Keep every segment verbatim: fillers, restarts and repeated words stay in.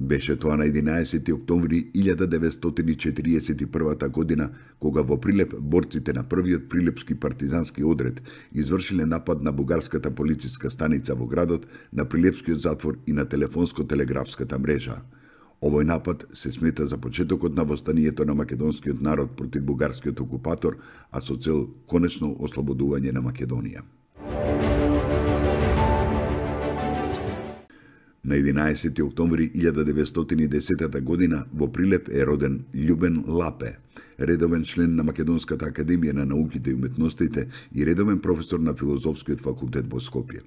Беше тоа на единаесети октомври илјада деветстотини четириесет и прва година, кога во Прилеп борците на првиот прилепски партизански одред извршиле напад на бугарската полициска станица во градот, на прилепскиот затвор и на телефонско-телеграфската мрежа. Овој напад се смета за почетокот на востанието на македонскиот народ против бугарскиот окупатор, а со цел конечно ослободување на Македонија. На единаесети октомври илјада деветстотини и десета година во Прилеп е роден Љубен Лапе, редовен член на Македонската академија на науките и уметностите и редовен професор на филозофскиот факултет во Скопје.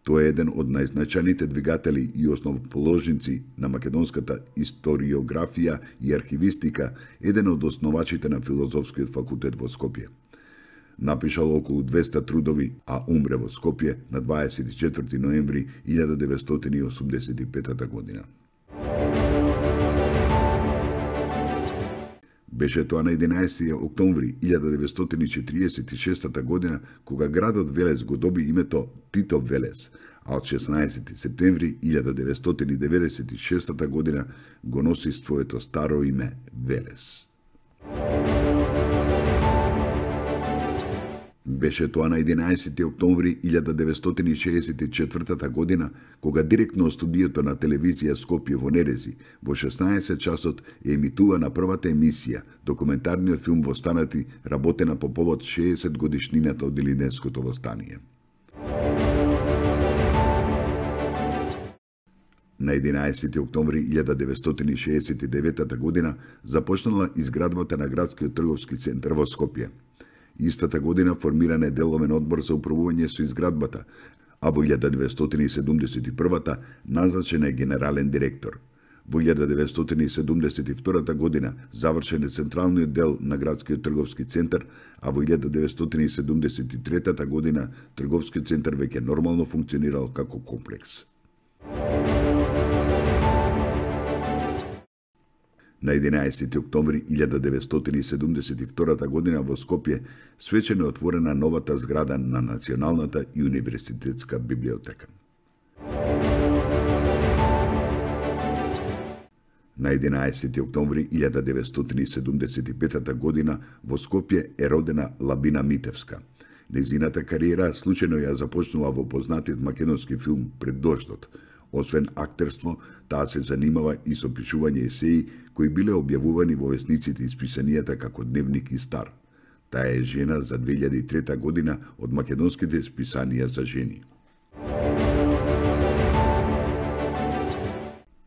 Тој е еден од најзначајните двигатели и основоположници на македонската историографија и архивистика, еден од основачите на филозофскиот факултет во Скопје. Напишал околу двеста трудови, а умре во Скопје на дваесет и четврти ноември илјада деветстотини и осумдесет и пета година. Беше тоа на единаесети октомври илјада деветстотини четириесет и шеста година, кога градот Велес го доби името Тито Велес, а од шеснаесети септември илјада деветстотини деветдесет и шеста година го носи своето старо име Велес. Беше тоа на единаесети октомври илјада деветстотини шеесет и четврта година, кога директно од студиото на телевизија Скопје во Нерези, во шеснаесет часот е емитувана првата емисија, документарниот филм Востанати, работена по повод шеесет годишнината од Илинденското востание. На единаесети октомври илјада деветстотини шеесет и девета година започнала изградбата на градскиот трговски центар во Скопје. Истата година формиран е деловен одбор за управување со изградбата, а во илјада деветстотини седумдесет и прва назначен е генерален директор. Во илјада деветстотини седумдесет и втора година завршен е централниот дел на градскиот трговски центар, а во илјада деветстотини седумдесет и трета година трговскиот центар веќе нормално функционирал како комплекс. На единаесети октомври илјада деветстотини седумдесет и втора година во Скопје свечено е отворена новата зграда на Националната и универзитетска библиотека. На единаесети октомври илјада деветстотини седумдесет и пета година во Скопје е родена Лабина Митевска. Нејзината кариера случајно ја започнува во познатиот македонски филм Пред дождот. Освен актерство, таа се занимава и со пишување есеи кои биле објавувани во весниците и списанијата како Дневник и Стар. Таа е жена за две илјади и трета година од македонските списанија за жени.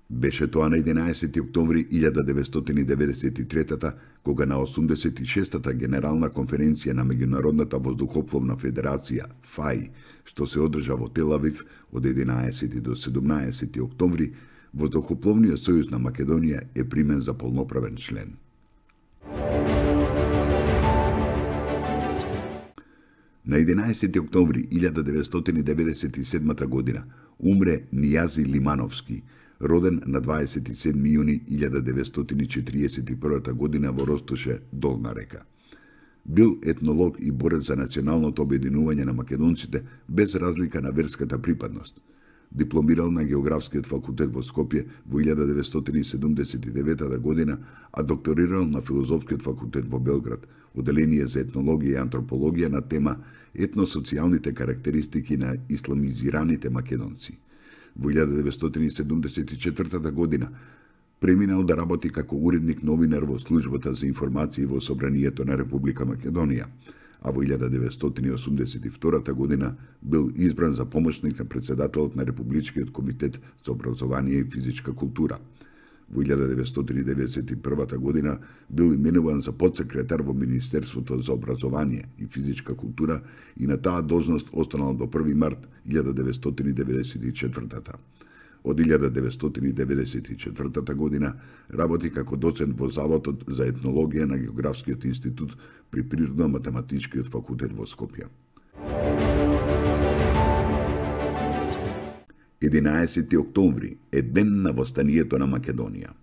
Беше тоа на единаесети октомври илјада деветстотини деветдесет и трета кога на осумдесет и шестата генерална конференција на Меѓународната воздухопловна федерација ФАИ, што се одржа во Тел Авив од единаесети до седумнаесети октомври, Воздухопловниот сојуз на Македонија е примен за полноправен член. На единаесети октомври илјада деветстотини деветдесет и седма година умре Нијази Лимановски, роден на дваесет и седми јуни илјада деветстотини четириесет и прва година во Ростоше, Долна река. Бил етнолог и борец за националното обединување на македонците без разлика на верската припадност. Дипломирал на Географскиот факултет во Скопје во илјада деветстотини седумдесет и девета година, а докторирал на Филозофскиот факултет во Белград, оделение за етнологија и антропологија на тема етносоцијалните карактеристики на исламизираните македонци. Во илјада деветстотини седумдесет и четврта година преминал да работи како уредник новинар во службата за информации во Собранието на Република Македонија, а во илјада деветстотини осумдесет и втора година бил избран за помошник на председателот на Републичкиот комитет за образование и физичка култура. Во илјада деветстотини деветдесет и прва година бил именуван за подсекретар во Министерството за образование и физичка култура и на таа должност останал до први март илјада деветстотини деветдесет и четврта. Од илјада деветстотини деветдесет и четврта година работи како доцент во Заводот за етнологија на Географскиот институт при Природно-математичкиот факултет во Скопје. единаесети октомври е ден на востанието на Македонија.